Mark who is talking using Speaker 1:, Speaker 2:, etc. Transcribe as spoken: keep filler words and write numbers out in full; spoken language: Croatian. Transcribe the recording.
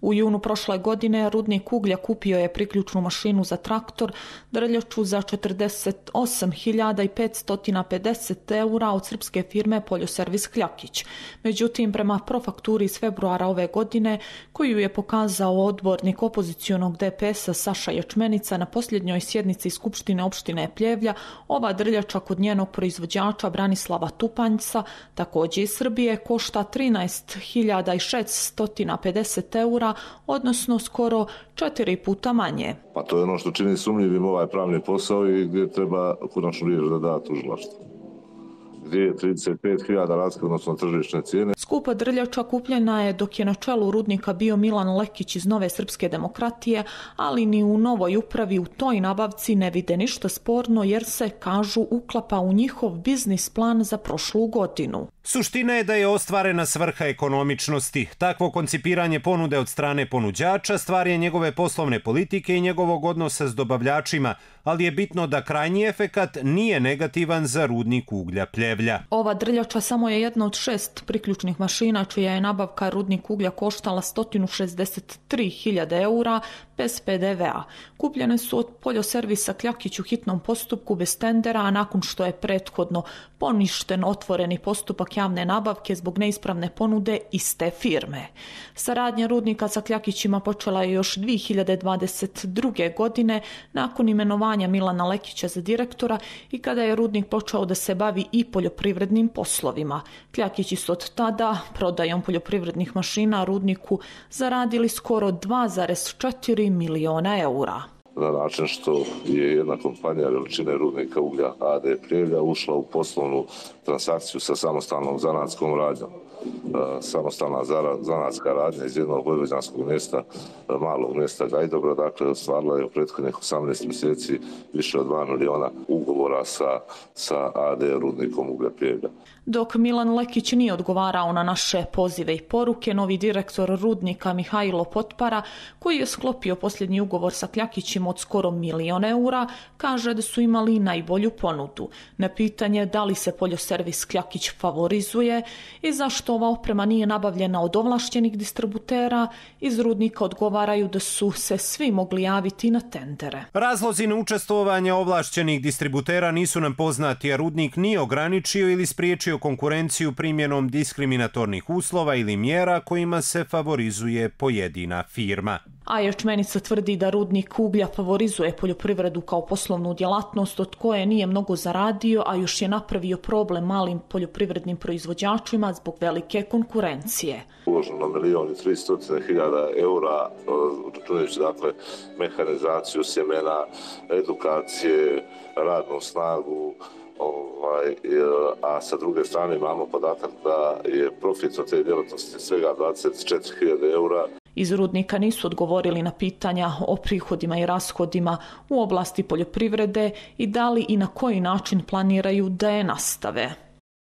Speaker 1: U junu prošle godine rudnik uglja kupio je priključnu mašinu za traktor, drljaču za četrdeset osam hiljada petsto pedeset eura od srpske firme Poljoservis Kljakić. Međutim, prema profakturi iz februara ove godine, koju je pokazao odbornik opozicionog D P S-a Saša Ječmenica na posljednjoj sjednici Skupštine opštine Pljevlja, ova drljača kod njenog proizvođača Branislava Tupanjca, također iz Srbije, košta trinaest hiljada šeststo pedeset eura, odnosno skoro četiri puta manje.
Speaker 2: Pa to je ono što čini sumnjivim ovaj pravni posao i gdje treba konačnu riječ da da tužilaštvo. Gdje je trideset pet hiljada razlika, odnosno tržišne cijene.
Speaker 1: Skupa drljača kupljena je dok je na čelu rudnika bio Milan Lekić iz Nove srpske demokratije, ali ni u novoj upravi u toj nabavci ne vide ništa sporno jer se, kažu, uklapa u njihov biznis plan za prošlu godinu.
Speaker 3: Suština je da je ostvarena svrha ekonomičnosti. Takvo koncipiranje ponude od strane ponuđača stvar je njegove poslovne politike i njegovog odnosa s dobavljačima, ali je bitno da krajnji efekat nije negativan za rudnik uglja Pljevlja.
Speaker 1: Ova drljača samo je jedna od šest priključnih mašina čija je nabavka rudnik uglja koštala sto šezdeset tri hiljade eura bez P D V-a. Kupljene su od Poljoservisa Kljakić u hitnom postupku bez tendera, a nakon što je prethodno poništen otvoreni postupak javne nabavke zbog neispravne ponude iste firme. Saradnja rudnika sa Kljakićima počela je još dvije hiljade dvadeset druge. godine nakon imenovanja Milana Lekića za direktora i kada je rudnik počeo da se bavi i poljoprivrednim poslovima. Kljakići su od tada prodajom poljoprivrednih mašina rudniku zaradili skoro dva zarez četiri miliona eura.
Speaker 2: Na način što je jedna kompanija veličine rudnika uglja A D Pljevlja ušla u poslovnu transakciju sa samostalnom zanatskom radnjom. Samostalna zanatska radnja iz jednog vojvođanskog mjesta, malog mjesta Gajdobra, dakle ostvarila je u prethodnih osamnaest mjeseci više od dva miliona ugovora sa, sa A D rudnikom uglja Pljevlja.
Speaker 1: Dok Milan Lekić nije odgovarao na naše pozive i poruke, novi direktor rudnika Mihajlo Potpara, koji je sklopio posljednji ugovor sa Kljakićima od skoro milion eura, kaže da su imali najbolju ponudu. Na pitanje da li se Poljoservis Kljakić favorizuje i zašto ova oprema nije nabavljena od ovlaštenih distributera, iz rudnika odgovaraju da su se svi mogli javiti na tendere.
Speaker 3: Razlozi neučestvovanja ovlašćenih distributera nisu nam poznati, a rudnik nije ograničio ili spriječio konkurenciju primjenom diskriminatornih uslova ili mjera kojima se favorizuje pojedina firma.
Speaker 1: A Ječmenica tvrdi da rudnik uglja favorizuje poljoprivredu kao poslovnu djelatnost od koje nije mnogo zaradio, a još je napravio problem malim poljoprivrednim proizvođačima zbog velike konkurencije.
Speaker 2: Uloženo milijon i tristo hiljada eura, računajući dakle mehanizaciju sjemena, edukacije, radnu snagu, Ovaj, a sa druge strane imamo podatak da je profit od te djelatnosti svega dvadeset četiri hiljade eura.
Speaker 1: Iz rudnika nisu odgovorili na pitanja o prihodima i rashodima u oblasti poljoprivrede i da li i na koji način planiraju da je nastave.